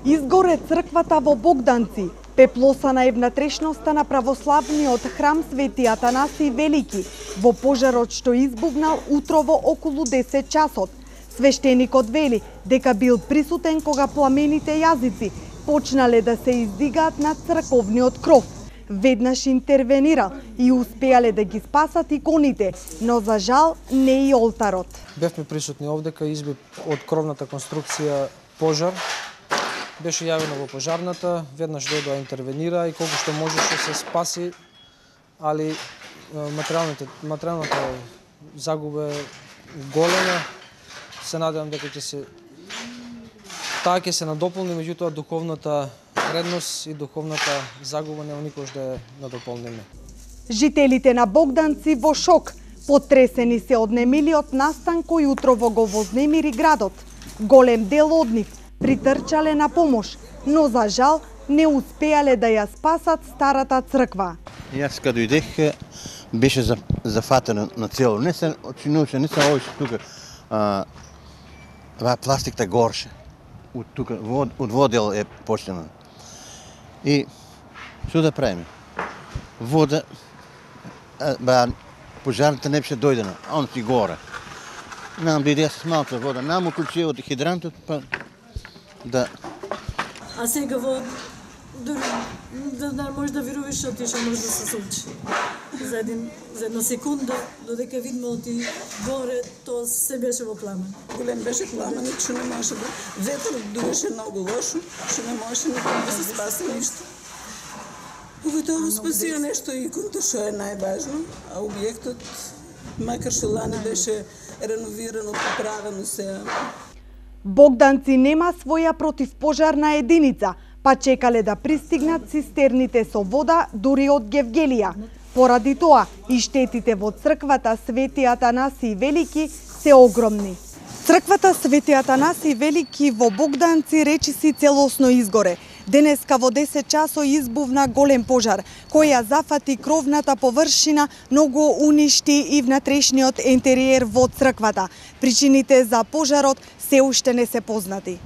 Изгоре црквата во Богданци, пеплосана е внатрешноста на православниот храм Свети Атанаси Велики во пожарот што избувнал утрово околу 10 часот. Свештеникот вели дека бил присутен кога пламените јазици почнале да се издигаат над црковниот кров. Веднаш интервенирал и успеале да ги спасат иконите, но за жал не и олтарот. Бевме присутни овдека, изби од кровната конструкција пожар. Беше јавено во пожарната, веднаш дојде да интервенира и колку што можеше се спаси, али материјалната загуба е голема. Се надевам дека таа ќе се надополни, меѓутоа духовната вредност и духовната загуба нема никош да ја надополниме. Жителите на Богданци во шок, потресени се од немилиот настан кој утрово го вознемири градот. Голем дел од нив притрчале на помош, но за жал не успеале да ја спасат старата црква. Јас кога дојдех беше зафатено на цело. Не се очинуваше, не се овој тука. Ова пластикта горше. Од тука, од водел е почнено. И што да правиме? Вода, пожарната не беше дојдена, а он си горе. Нам дојде с малка вода, нам уклучи од хидрантот, па да. А сега да може да веруваш што ти што може да се случи. За една секунда, додека видиме оти горе, тоа се беше во пламен. Голем беше пламен, што не може да... Ветрот дуеше многу лошо, што не може никога да се спаси ништо. Поветово спасија нешто иконта, што е најважно, а објектот, макар што лани беше реновирано, поправено се. Богданци нема своја противпожарна единица, па чекале да пристигнат цистерните со вода дури од Гевгелија. Поради тоа и штетите во црквата Свети Атанаси Велики се огромни. Црквата Свети Атанаси Велики во Богданци речиси целосно изгоре. Денеска во 10 часот избувна голем пожар, кој ја зафати кровната површина, но го уништи и внатрешниот ентериер во црквата. Причините за пожарот се уште не се познати.